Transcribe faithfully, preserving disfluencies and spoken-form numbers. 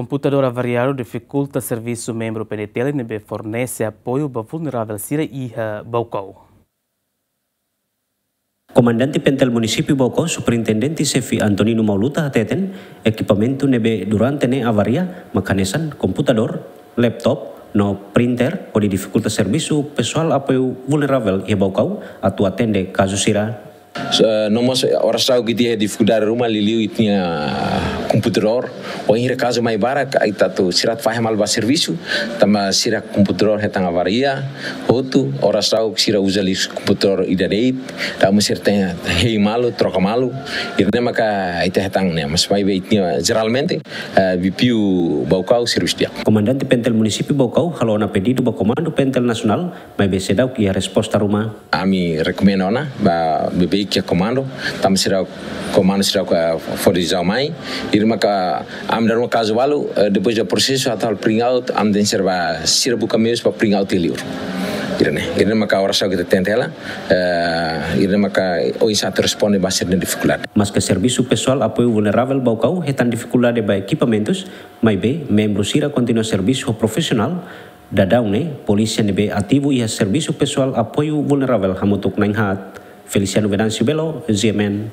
Komputadór avariadu difikulta servisu membru P D T L ne'ebé fornese apoiu ba vulneravel sira iha Baucau. Komandante Pentel Munisípiu Baucau, Superintendente Xefe Antonino Mauluta hateten, ekipamentu ne'ebé durante ne'e avaria, mak hanesan komputadór, laptop, no printer, hodi difikulta servisu pesoál apoiu vulneravel iha Baucau atu atende kazu sira. So, no mós, eh, oras daudauk ita iha difikuldade ruma, liuliu ita-nia komputadór. Wainhira kazu mai barak, ita atu sira atu fahe malu ba servisu, tanba sira komputadór hetan avaria hotu, oras daudauk sira uza liu komputadór ida de'it, tanba sira tenke hein malu, troka malu. Ida-ne'e maka ita hetan ne'e, mas maibé ita-nia jeralmente, eh, B P U Baucau servisu di'ak. Komandante Pentel Munisípiu Baucau halo ona pedidu ba Komandu Pentel Nasionál, maibé seidauk iha resposta ruma. Ami rekomenda ona ba beibeik iha komandu, tanba sira komandu sira ka fó desizaun mai. Ida-ne'e maka ami dala ruma kazu balu, eh, depois de prosesu atu halo print out, ami tenke sira ba sira buka meius ba print out iha liur. Ida-ne'e, ida-ne'e maka oras daudauk ita tenta hela, eh, ida-ne'e maka oinsá atu responde ba sira-nia difikuldade. Maske servisu pesoál apoiu vulneravel Baucau hetan difikuldade ba ekipamentus, maibé membru sira kontinua servisu ho profisionál. Daudaun ne'e, polísia ne'ebé ativu iha servisu pesoál apoiu vulneravel hamutuk na'in haat. Feliciano Venâncio Belo, G M N.